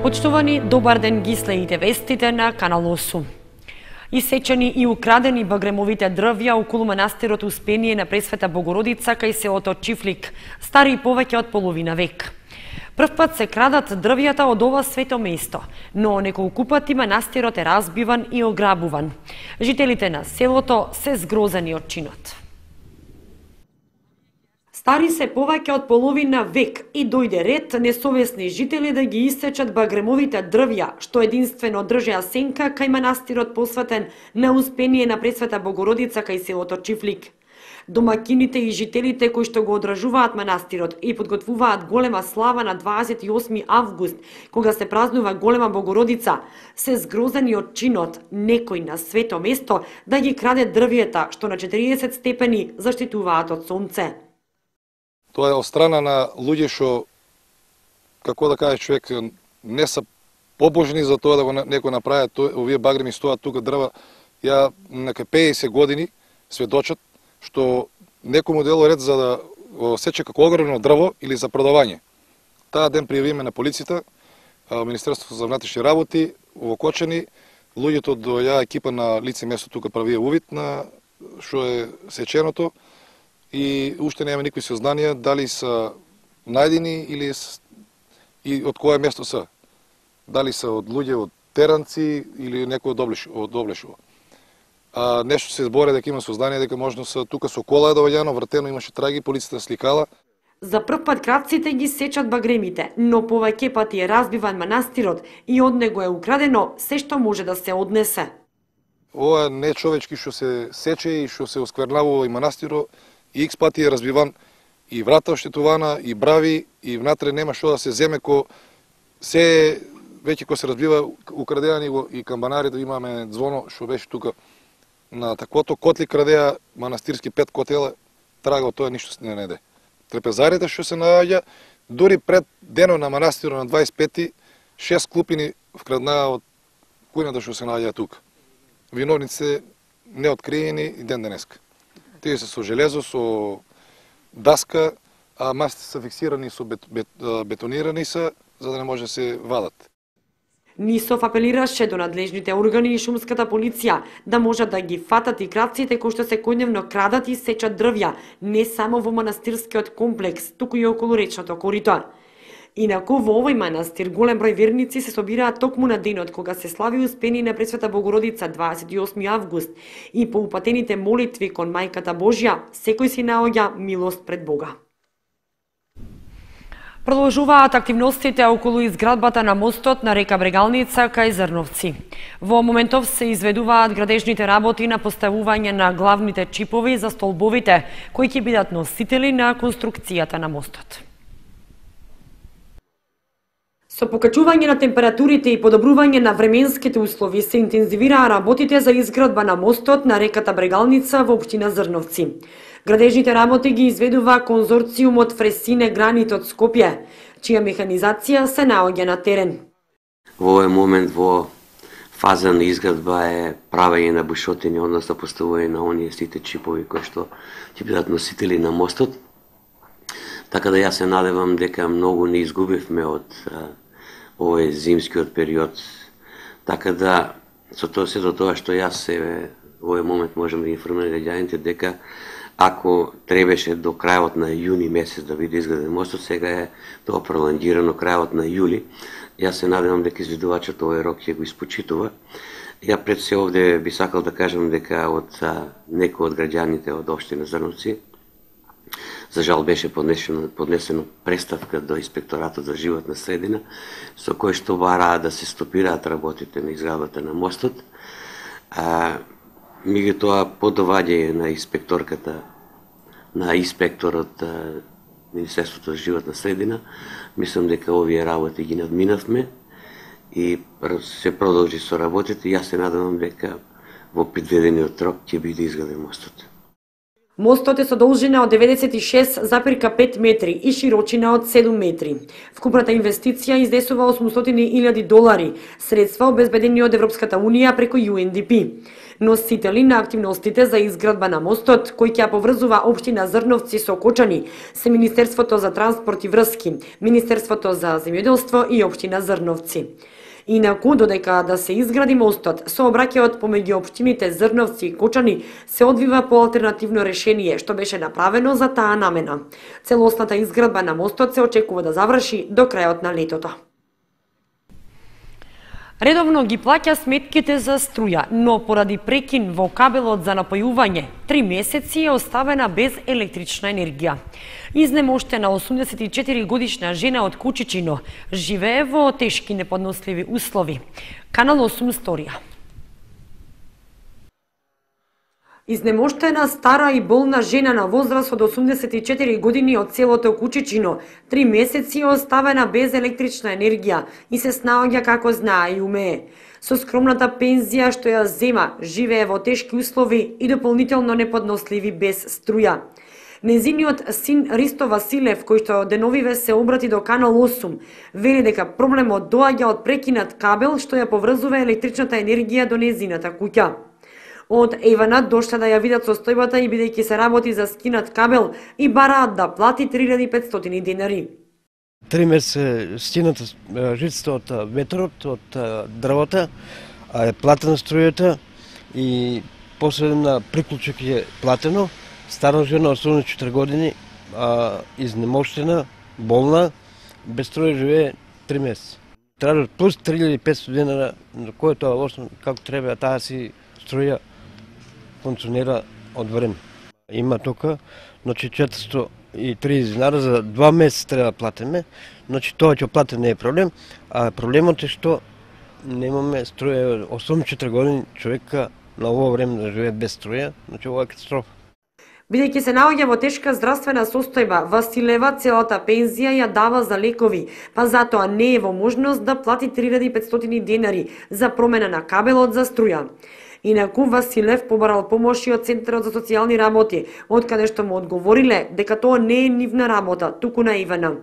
Почтувани, добар ден, ги следите вестите на Канал 8. Исечени и украдени багремовите дрвја околу манастирот Успение на Пресвета Богородица кај селото Чифлик, стари повеќе од половина век. Прв пат се крадат дрвјата од ова свето место, но неколку пати манастирот е разбиван и ограбуван. Жителите на селото се згрозени од чинот. Стари се повеќе од половина век и дојде ред несовесни жители да ги исечат багремовите дрвја, што единствено држеа сенка кај манастирот посветен на Успение на Пресвета Богородица кај селото Чифлик. Домакините и жителите кои што го одржуваат манастирот и подготвуваат голема слава на 28 август, кога се празнува голема Богородица, се згрозени од чинот некој на свето место да ги краде дрвјата што на 40 степени заштитуваат од сонце. Тоа е од страна на луѓе што, како да каже човек, не се побожни за тоа да го некој направи. Овие багреми стоат тука дрва, ја нека 50 години сведочат, што некому дело ред за да го сече како огромно дрво или за продавање. Таа ден пријавиме на полицијата, Министерството за внатрешни работи, овокочени, луѓето доја екипа на лице место тука правија увид на што е сеченото, и уште нема никакви сознанија дали се најдени или и од кое место се. Дали се од луѓе од теранци или некој од Облешово. Нешто се збори дека има сознание дека можно се тука со кола е доваѓано, вратено, имаше траги, полицијата сликала. За прв пат крадците ги сечат багремите, но повеќе пати е разбиван манастирот и од него е украдено се што може да се однесе. Ова не човечки што се сече и што се осквернавува и манастиро, и икс пати е разбиван, и врата оштетувана, и брави, и внатре нема што да се земе, ко се веќе ко се разбива украдеани го и камбанарите, имаме звоно што беше тука на таквото, котли крадеа манастирски 5 котела, трага од тоа ништо не најде. Трепезарите што се наоѓа, дури пред денот на манастирот на 25-ти, 6 клупини вкраднаа од кујната што се наоѓа тука. Виновници неоткриени и ден денеска. Тие се со железо, со даска, а масите се фиксирани, со бетонирани се, за да не може да се вадат. Нисов апелираше до надлежните органи и шумската полиција да можат да ги фатат и крадците кои што секојдневно крадат и сечат дрвја, не само во манастирскиот комплекс, туку и околу речното корито. Инаку во овој манастир голем број верници се собираат токму на денот кога се слави Успение на Пресвета Богородица 28 август и по упатените молитви кон Мајката Божја секој си наоѓа милост пред Бога. Продолжуваат активностите околу изградбата на мостот на река Брегалница кај Зрновци. Во моментов се изведуваат градежните работи на поставување на главните чипови за столбовите кои ќе бидат носители на конструкцијата на мостот. Со покачување на температурите и подобрување на временските услови се интензивираа работите за изградба на мостот на реката Брегалница во општина Зрновци. Градежните работи ги изведува конзорциумот Фресине Гранит од Скопје, чија механизација се наоѓа на терен. Во овој момент во фаза на изградба е правење на бушотини, односно поставување на оние сите чипови кои што ќе бидат носители на мостот. Така да јас се надевам дека многу не изгубивме од овој зимскиот период. Така да, со сето тоа што јас во овој момент можам да информирам граѓаните дека ако требеше до крајот на јуни месец да биде изграден мостот, сега е тоа пролонгирано крајот на јули. Јас се надевам дека изведувачот овој рок ќе го испочитува. Ја пред се овде би сакал да кажам дека од некој од граѓаните од општина Зрновци, за жал беше поднесено преставка до Инспекторатот за животна средина, со кој што бараа да се стопираат работите на изградбата на мостот. Меѓутоа, по доваѓање на инспекторот Министерството за животна средина, мислам дека овие работи ги надминавме и се продолжи со работите. Јас се надевам дека во предвидениот рок ќе биде изграден мостот. Мостот е со должина од 96,5 метри и широчина од 7 метри. Вкупната инвестиција изнесува $800,000, средства обезбедени од Европската Унија преку UNDP. Носители на активностите за изградба на мостот, кој ќе поврзува општина Зрновци со Кочани, се Министерството за транспорт и врски, Министерството за земјоделство и општина Зрновци. Инаку, додека да се изгради мостот, сообраќајот помеѓу општините Зрновци и Кочани се одвива по алтернативно решение, што беше направено за таа намена. Целосната изградба на мостот се очекува да заврши до крајот на летото. Редовно ги плаќа сметките за струја, но поради прекин во кабелот за напојување, 3 месеци е оставена без електрична енергија. Изнемоштена 84-годишна жена од Кучичино живее во тешки неподносливи услови. Канал 8 сторија. Изнемоштена, стара и болна жена на возраст од 84 години од селото Кучичино 3 месеци е оставена без електрична енергија и се снаоѓа како знае и умее. Со скромната пензија што ја зема, живее во тешки услови и дополнително неподносливи без струја. Незиниот син Ристо Василев, кој што деновиве се обрати до Канал 8, вели дека проблемот доаѓа од прекинат кабел што ја поврзува електричната енергија до незината куќа. Од Евана дошла да ја видат состојбата и бидејќи се работи за скинат кабел и бараат да плати $3,500. 3 месеца стината жицата од ветрот, од дрвата, а е платена струјата и после на приклучок е платено. Стара жена од 84 години, изнемоштена, болна, без струја живее 3 месеца. Тражат плюс $3,500, на кој тоа лошно како треба, таа си струја функционира од време. Има тока, значи $430 за 2 месеца треба да платиме, значи тоа ќе плати не е проблем, а проблемот е што немаме струја, 84 години човека на ово време да живее без струја, значи ова е катастрофа. Бидејќи се наоѓа во тешка здравствена состојба, Василева целата пензија ја дава за лекови, па затоа не е во можност да плати $3,500 за промена на кабелот за струја. Инаку Василев побарал помош и од Центарот за социјални работи, од каде што му одговориле дека тоа не е нивна работа, туку на Евана.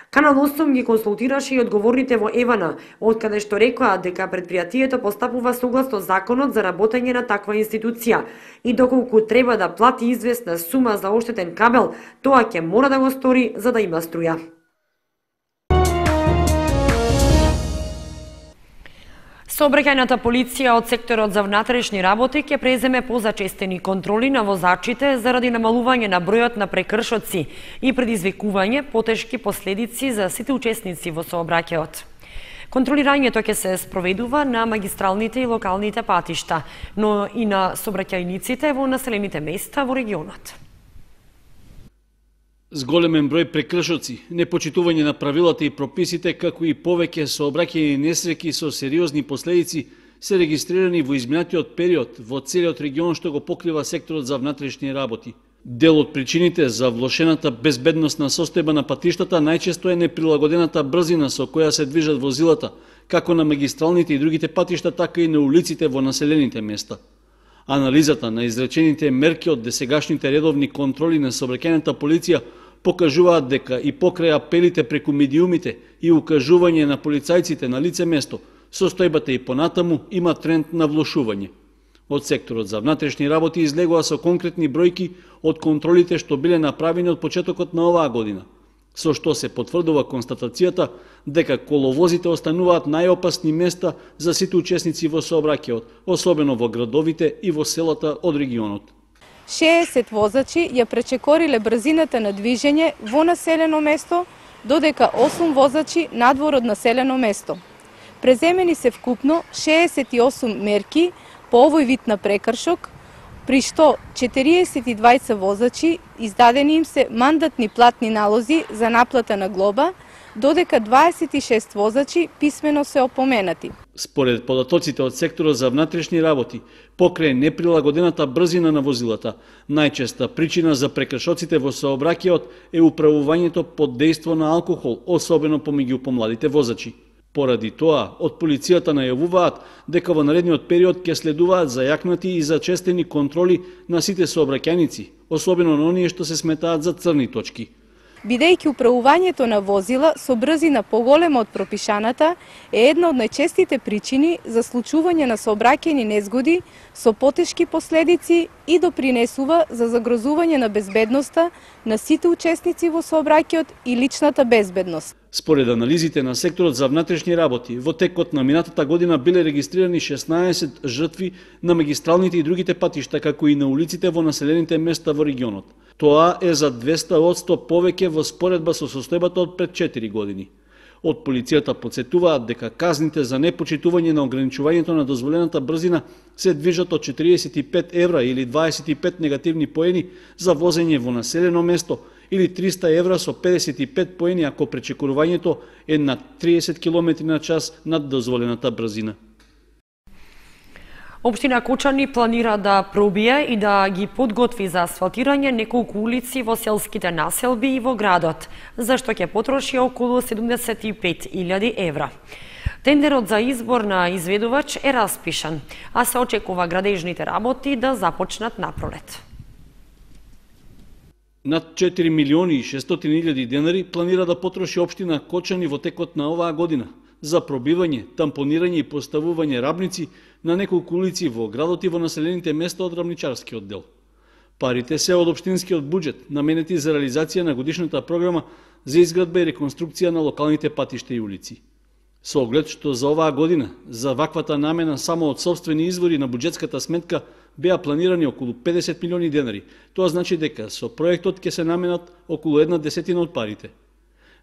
Канал 8 ги консултираше и одговорните во Евана, од каде што рекоа дека предпријатието постапува согласно законот за работење на таква институција и доколку треба да плати известна сума за оштетен кабел, тоа ќе мора да го стори за да има струја. Сообраќајната полиција од секторот за внатрешни работи ќе преземе позачестени контроли на возачите заради намалување на бројот на прекршоци и предизвикување потешки последици за сите учесници во сообраќајот. Контролирањето ќе се спроведува на магистралните и локалните патишта, но и на сообраќајниците во населените места во регионот. Зголемен број прекршоци, непочитување на правилата и прописите, како и повеќе сообраќајни несреќи со сериозни последици се регистрирани во изминатиот период во целиот регион што го покрива секторот за внатрешни работи. Дел од причините за влошената безбедносна состојба на патиштата најчесто е неприлагодената брзина со која се движат возилата, како на магистралните и другите патишта, така и на улиците во населените места. Анализата на изречените мерки од досегашните редовни контроли на сообраќајната полиција покажуваат дека и покрај апелите преку медиумите и укажување на полицајците на лице место, состојбата и понатаму има тренд на влошување. Од секторот за внатрешни работи излегува со конкретни бројки од контролите што биле направени од почетокот на оваа година, со што се потврдува констатацијата дека коловозите остануваат најопасни места за сите учесници во сообраќајот, особено во градовите и во селата од регионот. 60 возачи ја пречекориле брзината на движење во населено место, додека 8 возачи надвор од населено место. Преземени се вкупно 68 мерки по овој вид на прекршок, при што 42 возачи издадени им се мандатни платни налози за наплата на глоба, додека 26 возачи писмено се опоменати. Според податоците од секторот за внатрешни работи, покрај неприлагодената брзина на возилата, најчеста причина за прекршоците во сообраќајот е управувањето под дејство на алкохол, особено помеѓу помладите возачи. Поради тоа, од полицијата најавуваат дека во наредниот период ќе следуваат зајакнати и зачестени контроли на сите сообраќајници, особено на оние што се сметаат за црни точки. Бидејќи управувањето на возила со брзина поголема од пропишаната е една од најчестите причини за случување на сообраќајни незгоди со потешки последици и допринесува за загрозување на безбедноста на сите учесници во сообраќајот и личната безбедност. Според анализите на секторот за внатрешни работи, во текот на минатата година биле регистрирани 16 жртви на магистралните и другите патишта, како и на улиците во населените места во регионот. Тоа е за 200% повеќе во споредба со состојбата од пред 4 години. Од полицијата потсетуваат дека казните за непочитување на ограничувањето на дозволената брзина се движат од 45 евра или 25 негативни поени за возење во населено место или 300 евра со 55 поени ако пречекорувањето е на 30 км на час над дозволената брзина. Општина Кочани планира да пробие и да ги подготви за асфалтирање неколку улици во селските населби и во градот, за што ќе потроши околу 75.000 евра. Тендерот за избор на изведувач е распишан, а се очекува градежните работи да започнат напролет. Над 4 милиони и 600.000 денари планира да потроши општина Кочани во текот на оваа година за пробивање, тампонирање и поставување рабници на неколку улици во градот и во населените места од рабничарскиот дел. Парите се од општинскиот буџет, наменети за реализација на годишната програма за изградба и реконструкција на локалните патишта и улици. Со оглед што за оваа година за ваквата намена само од сопствени извори на буџетската сметка беа планирани околу 50 милиони денари. Тоа значи дека со проектот ќе се наменат околу 1/10 од парите.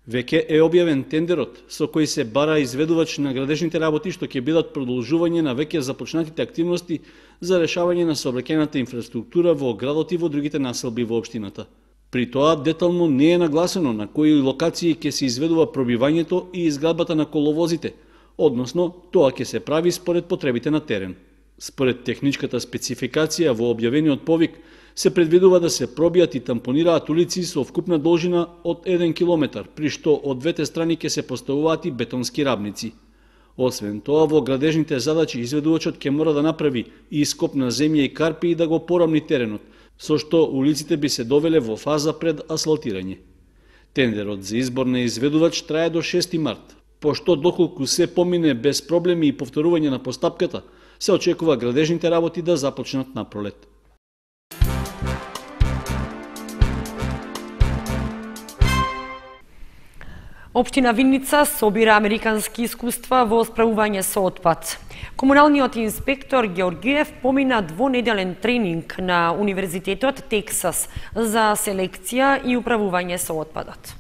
Веќе е објавен тендерот со кој се бара изведувач на градежните работи што ќе бидат продолжување на веќе започнатите активности за решавање на сообраќајната инфраструктура во градот и во другите населби во општината. При тоа детално не е нагласено на кои локации ќе се изведува пробивањето и изградбата на коловозите, односно тоа ќе се прави според потребите на терен. Според техничката спецификација во објавениот повик се предвидува да се пробијат и тампонираат улици со вкупна должина од 1 километар, при што од двете страни ќе се поставуваат и бетонски рабници. Освен тоа, во градежните задачи изведувачот ќе мора да направи и ископ на земја и карпи и да го порамни теренот, со што улиците би се довеле во фаза пред асфалтирање. Тендерот за избор на изведувач трае до 6 март, пошто доколку се помине без проблеми и повторување на постапката, се очекува градежните работи да започнат напролет. Општина Винница собира американски искуства во справување со отпад. Комуналниот инспектор Георгиев помина двонеделен тренинг на Универзитетот Тексас за селекција и управување со отпадот.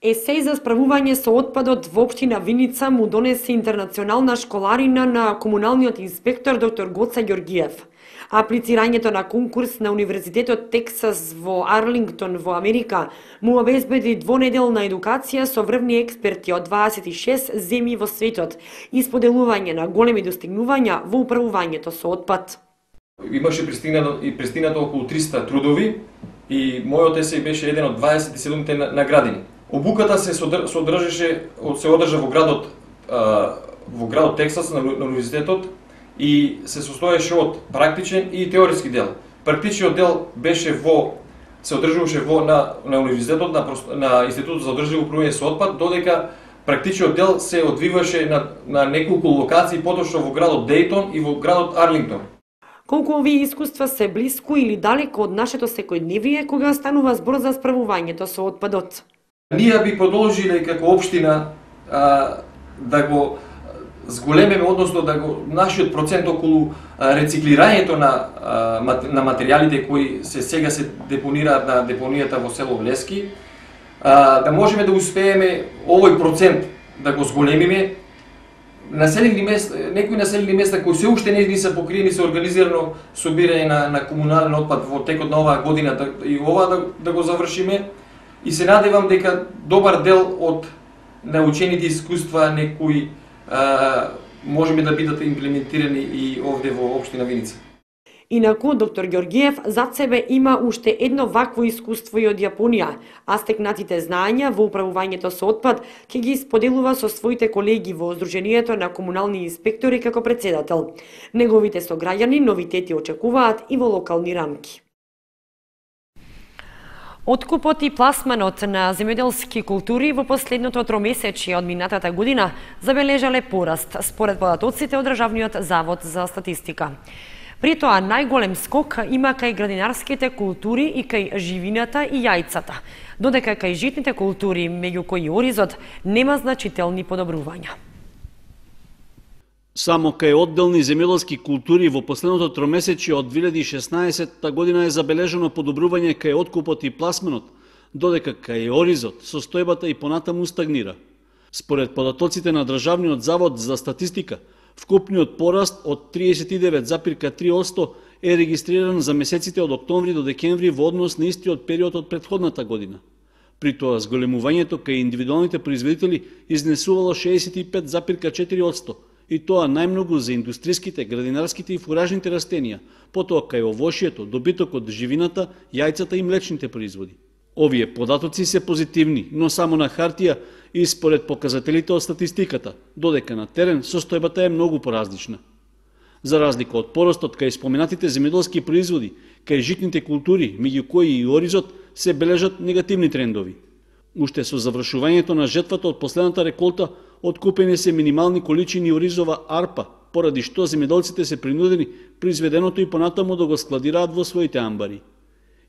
Есеј за справување со отпадот во општина Винница му донесе интернационална школарина на комуналниот инспектор доктор Гоца Георгиев. Аплицирањето на конкурс на Универзитетот Тексас во Арлингтон во Америка му обезбеди двонеделна едукација со врвни експерти од 26 земји во светот и споделување на големи достигнувања во управувањето со отпад. Имаше пристигнато околу 300 трудови и мојот есеј беше еден од 27-те наградени. Обуката се одржа во градот Тексас на универзитетот и се состоеше од практичен и теоретски дел. Практичниот дел се одржуваше на универзитетот на Институтот за одржливо управување со отпад, додека практичниот дел се одвиваше на неколку локации, поточно во градот Дејтон и во градот Арлингтон. Колку овие искуства се блиску или далеко од нашето секојдневие кога станува збор за справувањето со отпадот? Ние би продолжиле како општина да го зголемеме, односно да го нашиот процент околу рециклирањето на материјалите кои сега се депонираат на депонијата во село Влески, да можеме да успееме овој процент да го зголемиме. Некои населени места кои се уште не се покриени со организирано собирање на комунален отпад во текот на оваа година и ова да го завршиме. И се надевам дека добар дел од научените искуства некои можеме да бидат имплементирани и овде во општина Виница. Инаку, доктор Ѓоргиев зад себе има уште едно вакво искуство и од Јапонија, а стекнатите знаења во управувањето со отпад ќе ги споделува со своите колеги во Сдруженијето на комунални инспектори како председател. Неговите сограѓани новитети очекуваат и во локални рамки. Откупот и пласманот на земјоделски култури во последното тромесечие од минатата година забележале пораст, според податоците од Државниот завод за статистика. При тоа најголем скок има кај градинарските култури и кај живината и јајцата, додека кај житните култури, меѓу кои оризот, нема значителни подобрувања. Само кај одделни земјоделски култури во последното тромесечие од 2016 година е забележано подобрување кај откупот и пласманот, додека кај оризот состојбата и понатаму стагнира. Според податоците на Државниот завод за статистика, вкупниот пораст од 39,3% е регистриран за месеците од октомври до декември во однос на истиот период од претходната година. При тоа зголемувањето кај индивидуалните производители изнесувало 65,4%, и тоа најмногу за индустриските, градинарските и фуражните растенија, потоа кај овошјето, добитокот, живината, јајцата и млечните производи. Овие податоци се позитивни, но само на хартија и според показателите од статистиката, додека на терен состојбата е многу поразлична. За разлика од поростот кај споменатите земјоделски производи, кај житните култури, меѓу кои и оризот, се бележат негативни трендови. Уште со завршувањето на жетвата од последната реколта, откупени се минимални количини оризова арпа, поради што земјоделците се принудени произведеното и понатаму да го складираат во своите амбари.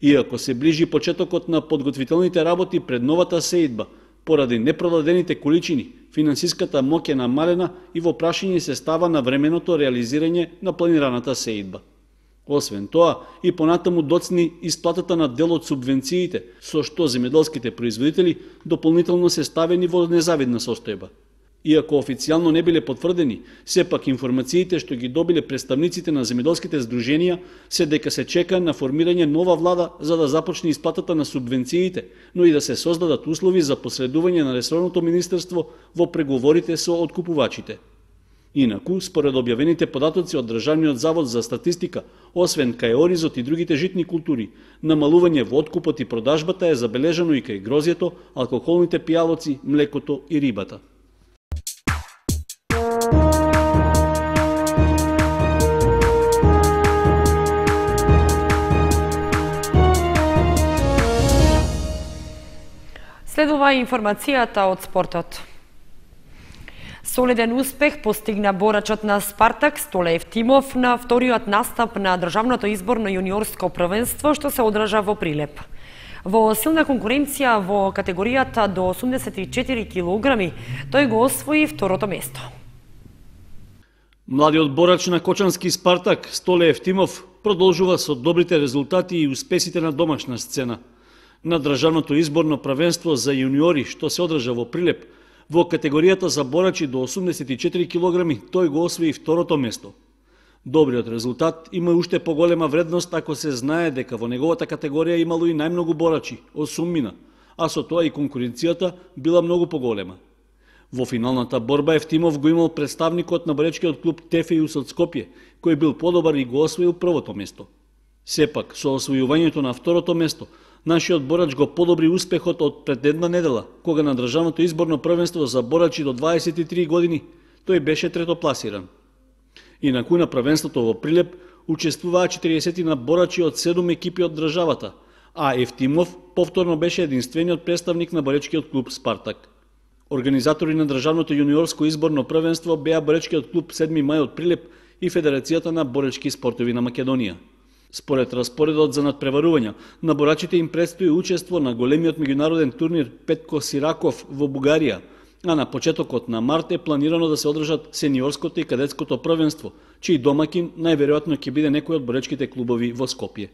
Иако се ближи почетокот на подготвителните работи пред новата сеидба, поради непродадените количини, финансиската моќ е намалена и во прашање се става на временото реализирање на планираната сеидба. Освен тоа, и понатаму доцни исплатата на дел од субвенциите, со што земјоделските производители дополнително се ставени во незавидна состојба. Иако официјално не биле потврдени, сепак информациите што ги добиле представниците на земјоделските здруженија се дека се чека на формирање нова влада за да започне исплатата на субвенциите, но и да се создадат услови за посредување на ресорното министерство во преговорите со откупувачите. Инаку, според објавените податоци од Државниот завод за статистика, освен кај оризот и другите житни култури, намалување во откупот и продажбата е забележано и кај грозјето, алкохолните пијалоци, млекото и рибата. Следува информацијата од спортот. Солиден успех постигна борачот на Спартак Столе Евтимов на вториот настап на државното изборно јуниорско првенство што се одржа во Прилеп. Во силна конкуренција во категоријата до 84 килограми, тој го освои второто место. Младиот борач на Кочански Спартак Столе Евтимов продолжува со добрите резултати и успесите на домашна сцена. На државното изборно првенство за јуниори што се одржа во Прилеп, во категоријата за борачи до 84 килограми, тој го освои второто место. Добриот резултат има уште поголема вредност ако се знае дека во неговата категорија имало и најмногу борачи, 8, а со тоа и конкуренцијата била многу поголема. Во финалната борба Евтимов го имал представникот на боречкиот клуб Тефејус од Скопје, кој бил подобар и го освоил првото место. Сепак, со освојувањето на второто место, нашиот борач го подобри успехот од пред една недела, кога на државното изборно првенство за борачи до 23 години тој беше третопласиран. Инаку на првенството во Прилеп учествуваа 40 борачи од 7 екипи од државата, а Евтимов повторно беше единствениот представник на боречкиот клуб Спартак. Организатори на државното јуниорско изборно првенство беа боречкиот клуб 7 мај од Прилеп и Федерацијата на боречки спортови на Македонија. Според распоредот за надпреварувања, на борачите им предстои учество на големиот меѓународен турнир Петко Сираков во Бугарија, а на почетокот на март е планирано да се одржат сениорското и кадетското првенство, чиј домакин најверојатно ќе биде некој од боречките клубови во Скопје.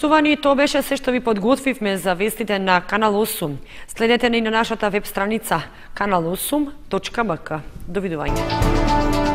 Почитувани, тоа беше се што ви подготвивме за вестите на Канал 8. Следете ни на нашата веб страница kanal8.mk. Довидување.